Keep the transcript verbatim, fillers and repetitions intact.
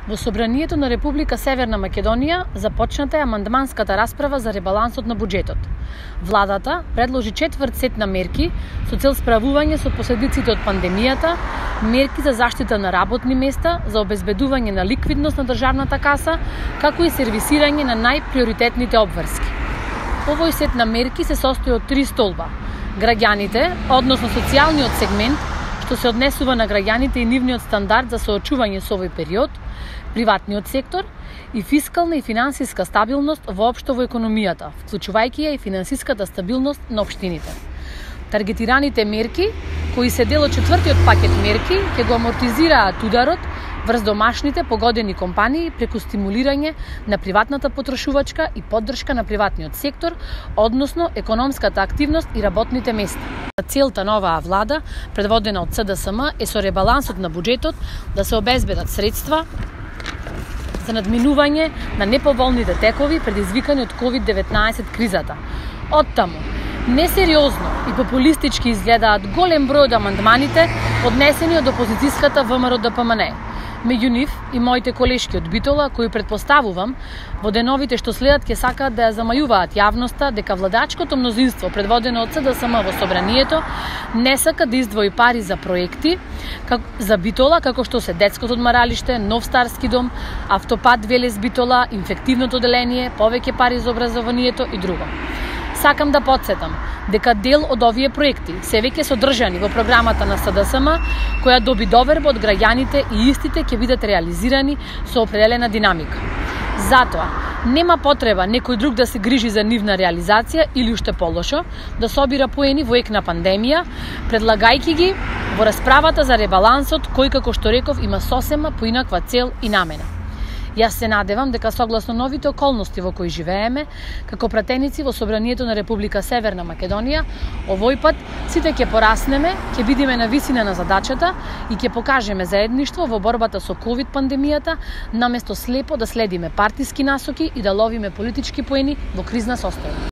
Во Собранието на Република Северна Македонија започната е амандманската расправа за ребалансот на буџетот. Владата предложи четврт сет на мерки со цел справување со последиците од пандемијата, мерки за заштита на работни места, за обезбедување на ликвидност на државната каса, како и сервисирање на најприоритетните обврски. Овој сет на мерки се состои од три столба: граѓаните, односно социјалниот сегмент, што се однесува на граѓаните и нивниот стандард за соочување со овој период, приватниот сектор и фискална и финансиска стабилност воопшто во економијата, вклучувајќи ја и финансиската стабилност на општините. Таргетираните мерки, кои се дел од четвртиот пакет мерки, ќе го амортизираат ударот врз домашните погодени компании преку стимулирање на приватната потрошувачка и поддршка на приватниот сектор, односно економската активност и работните места. Целта на оваа влада, предводена од С Д С М, е со ребалансот на буџетот да се обезбедат средства за надминување на неповолните текови предизвикани од ковид деветнаесет кризата. Оттаму, несериозно и популистички изгледаат голем број од амандманите поднесени од опозицијската В М Р Д П М Н Е. Меѓу нив и моите колешки од Битола, кои предпоставувам во деновите што следат ќе сакаат да ја замајуваат јавноста дека владачкото мнозинство предводено од С Д С М во Собранието не сака да издвои пари за проекти как, за Битола, како што се детското одмаралиште, нов старски дом, автопат Велес Битола, инфективното оделение, повеќе пари за образованието и друго. Сакам да потсетам дека дел од овие проекти се веќе содржани во програмата на С Д С М, која доби доверба од граѓаните и истите ќе бидат реализирани со определена динамика. Затоа, нема потреба некој друг да се грижи за нивна реализација или уште полошо, да собира поени во ек на пандемија, предлагајќи ги во расправата за ребалансот, кој, како што реков, има сосема поинаква цел и намена. Јас се надевам дека согласно новите околности во кои живееме, како пратеници во Собранието на Република Северна Македонија, овој пат сите ќе пораснеме, ќе бидеме на висина на задачата и ќе покажеме заедништво во борбата со ковид пандемијата, наместо слепо да следиме партиски насоки и да ловиме политички поени во кризна состојба.